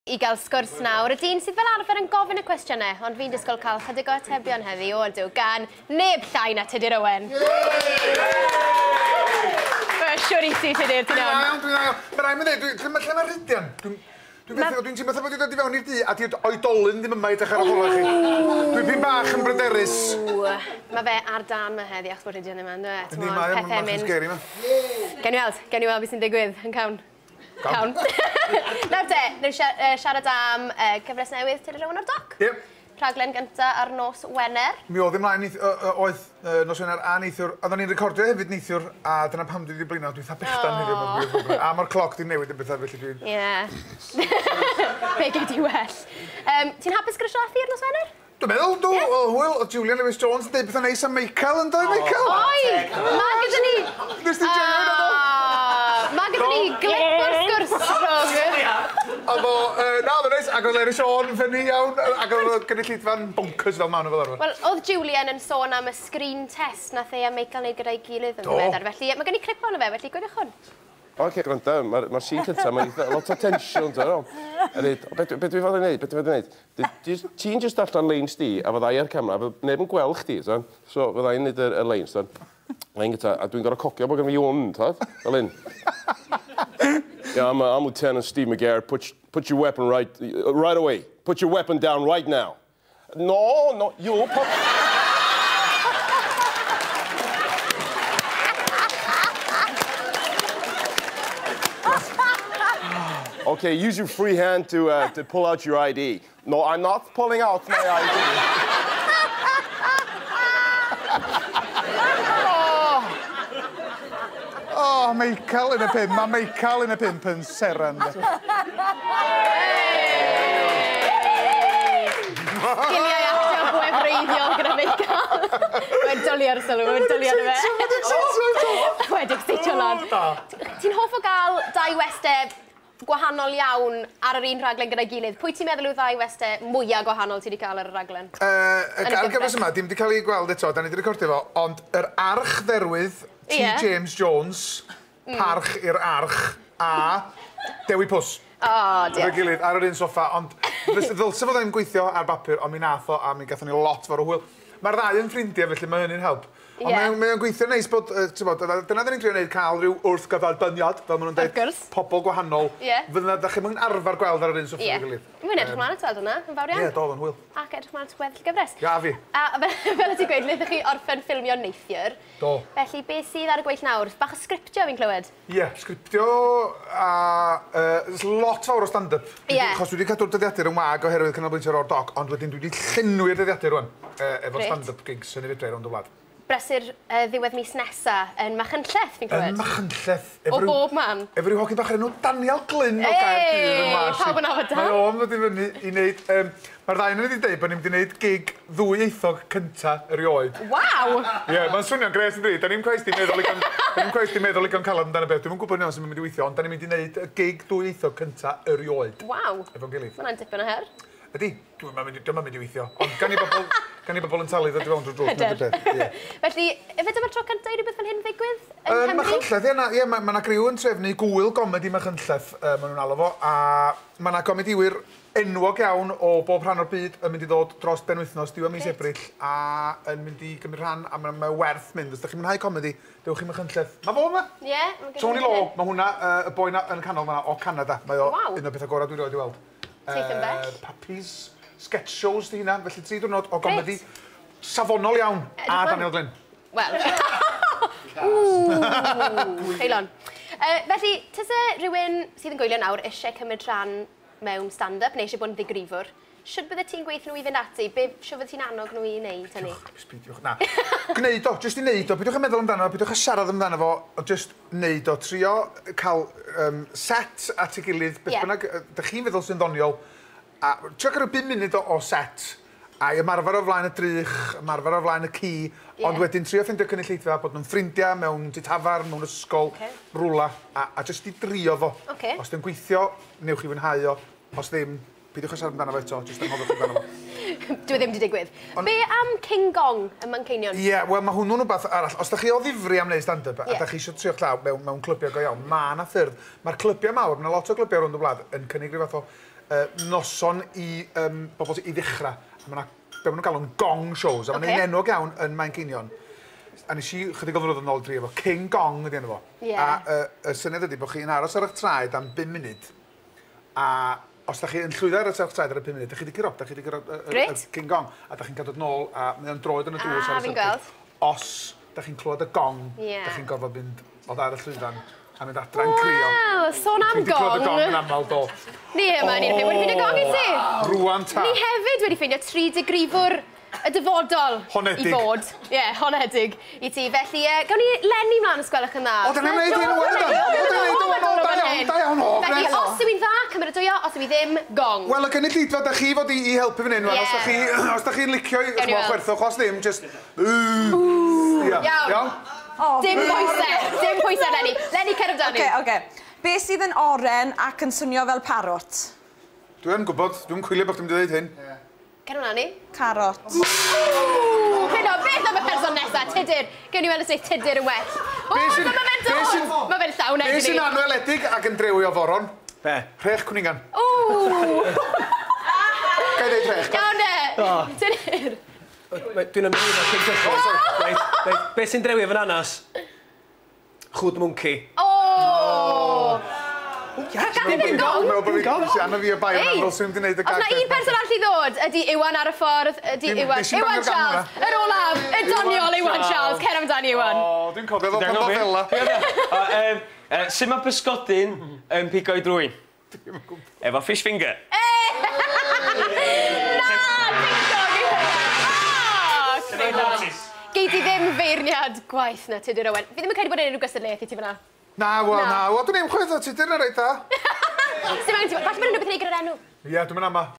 I gael sgwrs nawr, y dyn sydd fel arfer yn gofyn y cwestiynau, ond fi'n disgwyl cael chydig o atebion heddi, o ydw, gan neb llai na Tudur Owen. Siwr i ti, Tudur, ti'n iawn? Dwi'n iawn, Mae rhaid mi ddweud, lle mae Rhydian? Dwi'n teimlo fatha bod wedi dod i fewn i'r dŷ a di'r oedolyn ddim yma i dechrau ar ôl chi. Dwi'n pyn bach yn bryderus. Mae fe ar dan ma heddi achos bod Rhydian ddim yma, yndyw e? Yndi, mae o'n bach yn scary ma. Gewn ni weld, gewn ni weld beth sy'n digwydd yn cawn. Cawn. Nawr te, newn siarad am cyfres newydd Tudur Owen o'r Doc. Ie. Rhaglen gynta ar nos Wener. Mi oedd ymlaen, oedd nos Wener a neithiwr. Oedden ni'n recordio hefyd neithiwr, a dyna pam dwi wedi blino, dwi'n eitha bechdan heddiw. A mae'r cloc di newid yn bethau, felly dwi'n... Ie. Be gei di well. Ti'n hapus gyda siarad ar nos Wener? Dwi'n meddwl, dw, o hwyl, oedd Julian Lewis Jones yn dweud bethau neis am Michael, yn dweud, Michael? Oi! Mae gyda ni... Nes ti joio hwnna, do? Mae gyda ni glip o'r sgwrs rhwng. Oedd o, na, oedd o'n neis, ac oedd Erin Siôn yn ffynnu iawn, ac oedd y gynulleidfa'n bonkers fel maen nhw fel arfer. Wel, oedd Julian yn sôn am y screen test nath e a Michael wneud gyda'i gilydd yn ddiweddar, felly mae gen i clip ohono fe, felly gwyliwch hwn. Oce, gwrando, mae'r scene cyntaf, mae'n eitha lot o tensiwn, ti'n meddwl? A dweud, be dwi fod i wneud, be dwi fod i wneud? Ti'n just darllen leins di, a fydda i ar camera, fydd neb yn gweld chdi, ti'n? So, fydda i'n neud y leins, ti'n? Lein gyda, a dwi'n gorfod cogio bod gen fi hwn, ti'n? Fel hyn. Yeah, I'm Lieutenant Steve McGarrett. Put your weapon right away. Put your weapon down right now. No, no, you put... Okay, use your free hand to pull out your ID. No, I'm not pulling out my ID. Oh, Michael yn y pump. Mae Michael yn y pump yn seren. Sgiliau actio gwefreiddiol gyda Michael. Mae'n dwlu ar y sylw, mae'n dwlu ar y fe. Wedi excitio lan. Ti'n hoff o gael dau westau gwahanol iawn ar yr un rhaglen gyda'i gilydd. Pwy ti'n meddwl yw ddau westau mwyaf gwahanol ti wedi cael ar y rhaglen? Ar gyfres yma, dim wedi cael ei gweld eto, da ni wedi recordio fo, ond yr archdderwydd T. James Jones, parch i'r arch, a Dewi Pws. O, diolch. Efo'i gilydd, ar yr un soffa, ond ddylse fo ddim gweithio ar bapur, ond mi nath o, a mi gathon ni lot fawr o hwyl. Mae'r ddau yn ffrindiau, felly mae hynny'n help. Ond mae o'n gweithio neis bod, ti'n bod, dyna dyn ni'n trio wneud, cael rhyw wrthgyferbyniad, fel maen nhw'n dweud, pobl gwahanol. Fydda, da chi'n mynd arfer gweld ar yr un soffa efo'i gilydd. Mae'n edrych mlaen at weld hwnna, yn fawr iawn. Ie, do, o'n hwyl. Ac edrych mlaen at weddill gyfres. Ia, fi. A fel y ti'n gweud, wnaethoch chi orffen ffilmio neithiwr. Do. Felly, beth sydd ar y gweill nawr? Bach o sgriptio fi'n clywed? Ie, sgriptio a lot fawr o stand-up. Achos dwi wedi cadw'r dyddiadur yn wag oherwydd canolbwyntio ar O'r Doc, ond wedyn dwi wedi llenwi'r dyddiadur rwan efo stand-up gigs yn y fedra rownd y wlad. Brysur ddiwedd mis nesa yn Machynlleth, fi'n clywed. Yn Machynlleth. O bob man. Efo ryw hogyn bach o'r enw Daniel Glyn o Gaerdydd yn Wales. Pawb yn nabod Dan. Mae o'n dod i fyny i wneud... Mae'r ddau yn wedi dweud bod ni'n mynd i wneud gig ddwyieithog cynta erioed. Waw! Ie, mae'n swnio'n gres yn dweud. Da ni'n cweit di meddwl igon calad amdano beth. Dwi'm yn gwybod yn iawn sut mae'n mynd i weithio, ond da ni'n mynd i wneud y gig ddwyieithog cynta erioed. Waw! Efo'n gilydd. Mae hwnna'n dipyn o her. Ydy, dwi'n mynd i weithio, ond gan i bobl yn talu ddod i fewn drwy drws. Hyder. Felly, ife dyma'r tro cyntaf i rhywbeth fel hyn ddigwydd yng Nghymru? Machynlleth, ie, mae yna griw yn trefnu gwyl gomedi Machynlleth, maen nhw'n alw fo, a mae yna gomediwyr enwog iawn o bob rhan o'r byd yn mynd i ddod dros benwythnos, diwedd mis Ebrill, a yn mynd i gymryd rhan, a mae werth mynd. Os ydych chi'n mwynhau comedi, dewch i Machynlleth. Mae fo yma! Ie. Tony Law, mae hwnna, y boi yn y canol fan'na, o Canada. Mae o un o'r pethau gorau dwi erioed i weld. Teithio'n bell. Papis, sketch shows di hynna, felly 3 diwrnod o gomedi safonol iawn a Daniel Glyn. Wel. Ww, creulon. Felly, tase rhywun sydd yn gwylio nawr eisiau cymryd rhan mewn stand-up neu eisiau bod yn ddigrifwr, shwd bydde ti'n gweithio nhw i fynd ati? Be shwd bydde ti'n annog nhw i wneud hynny? Peidiwch, na. Gwneud o, jyst i wneud o. Peidiwch yn meddwl amdano, peidiwch yn siarad amdano fo, jyst wneud o. Trio cael set at ei gilydd, beth bynnag, dych chi'n feddwl sy'n ddoniol. A trio cael rhyw 5 munud o set, a ymarfer o flaen y drych, ymarfer o flaen y ci, ond wedyn trio ffeindio cynulleidfa, bod nhw'n ffrindiau mewn tŷ tafarn, mewn ysgol, rwla, a jyst i drio fo. Os dwi'n gweithio, newch chi fwynhau o, os ddim, peidiwch â siarad amdano fo eto, jyst anghofiwch amdano fo. Dwi ddim wedi digwydd. Be am King Gong ym Manceinion? Ie, wel mae hwnnw'n rhywbeth arall. Os da chi o ddifri am wneud stand-up a da chi eisiau trio'ch llaw mewn clybiau go iawn, mae yna ffyrdd. Mae'r clybiau mawr, mae yna lot o glybiau rownd y wlad yn cynnig rhyw fath o Noson i bobl i ddechrau. A mae yna, be maen nhw'n galw'n gong shows, a mae'n un enwog iawn yn Manceinion. A nes i chydig o flynyddoedd yn ôl drio fo, King Gong ydi enw fo. A y syniad ydi bod chi'n aros ar eich traed am 5 munud, a os da chi yn llwyddo ar eich traed ar y 5 munud, da chi wedi curo, da chi wedi curo y King Gong, a da chi'n cael dod nôl, a mae o'n droed yn y drws ar y syrcyd. Os da chi'n clywed y gong, da chi'n gorfod mynd od ar y llwyfan a mynd adra'n crio. Wel, sôn am gong. Dwi wedi clywed y gong yn aml, do. Ni yma, ni'n wedi ffeindio gong i ti. Rwan ta. Ni hefyd wedi ffeindio 3 digrifwr y dyfodol i fod. Ie, honedig i ti. Felly, gawn ni Lenny mlaen os gwelwch yn dda. O, dyna'n neud hyn, wel dan. O, dyna'n neud o, da iawn, da iawn, o, Felly, os yw hi'n dda, cymeradwyo, os yw hi ddim, gong. Wel, y gynulleidfa, da chi fod i helpu fan hyn, os da chi'n licio i chwerthwch, os ddim, just... Iawn. Dim pwysau, dim pwysau, Lenny. Lenny, cer amdani. Oce, oce. Be sydd yn oren ac yn swnio fel parot? Dwi'n gwybod, dwi'n cwylio bod chdi'n dweud hyn. Cer amdani. Carot. Hynno, beth am y person nesaf? Tudur. Gewn ni weld os neith Tudur yn well. O, dyma fe'n dod! Mae fe'n llawn egni. Be sy'n anweledig ac yn drewi o foron? Be? Rhech cwningan. Ww! Ga i ddeud rhech? Iawn e! Tudur. Dwi'n ymwneud â cyn cychwyn. Be sy'n drewi efo'n anas? Chwd mwnci. O! Dim gong! Sian o fi y bai o'n aml sy'n mynd i wneud y gag. Os na un person arall i ddod, ydy Iwan ar y ffordd, ydy Iwan... Iwan Charles, yr olaf, y doniol Iwan Charles. Cer amdani, Iwan. O, dwi'n cofio fel pan fo fela. Sut mae pysgodyn yn pigo i drwyn? Efo fish finger. Na, dim gong i hynna. Gei di ddim feirniad gwaith na Tudur Owen. Fi ddim yn credu bod unrhyw gystadleuaeth i ti fyna. Na, wel, na. Wel, dwi'n ddim chwaith o Tudur yn reit dda. Sdim angen ti... Falle bod unrhyw beth i wneud gyda'r enw. Ie, dwi'n mynd ama.